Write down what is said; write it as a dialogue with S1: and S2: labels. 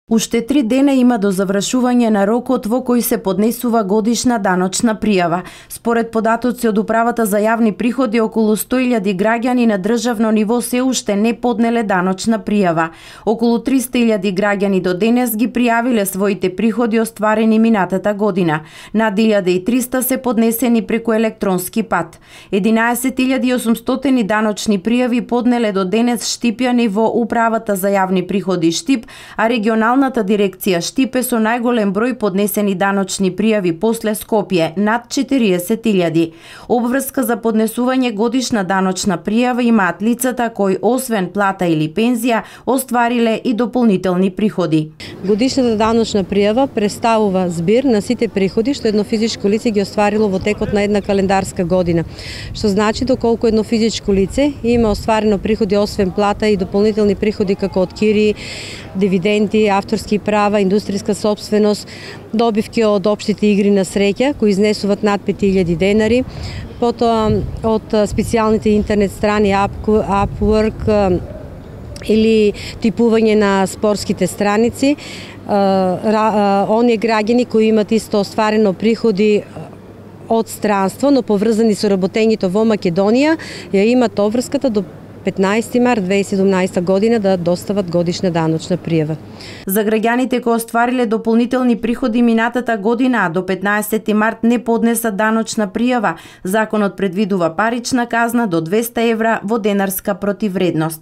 S1: Уште 3 дена има до завршување на рокот во кој се поднесува годишна даночна пријава. Според податоци од Управата за јавни приходи, околу 100.000 граѓани на државно ниво се уште не поднеле даночна пријава. Околу 300.000 граѓани до денес ги пријавиле своите приходи остварени минатата година. Над 1.300 се поднесени преку електронски пат. 11.800 даночни пријави поднеле до денес Штипјани во Управата за јавни приходи Штип, а регионалната дирекција Штип е со најголем број поднесени даночни пријави после Скопје, над 40.000. Обврска за поднесување годишна даночна пријава имаат лицата кои освен плата или пензија оствариле и дополнителни приходи.
S2: Годишната даночна пријава представува збир на сите приходи што едно физичко лице ги остварило во текот на една календарска година. Што значи доколку едно физичко лице има остварено приходи освен плата и дополнителни приходи како од кири, дивиденти, авторски права, индустријска сопственост, добивки од општите игри на среќа кои изнесуваат над 5.000 денари, потоа од специјалните интернет страни Upwork или типување на спортските страници, оние граѓани кои имат исто остварено приходи од странство, но поврзани со работењето во Македонија, ја имат обврската до 15 март 2017 година да достават годишна даночна пријава.
S1: За граѓаните кои оствариле дополнителни приходи минатата година, до 15 март не поднеса даночна пријава, законот предвидува парична казна до 200 евра во денарска противредност.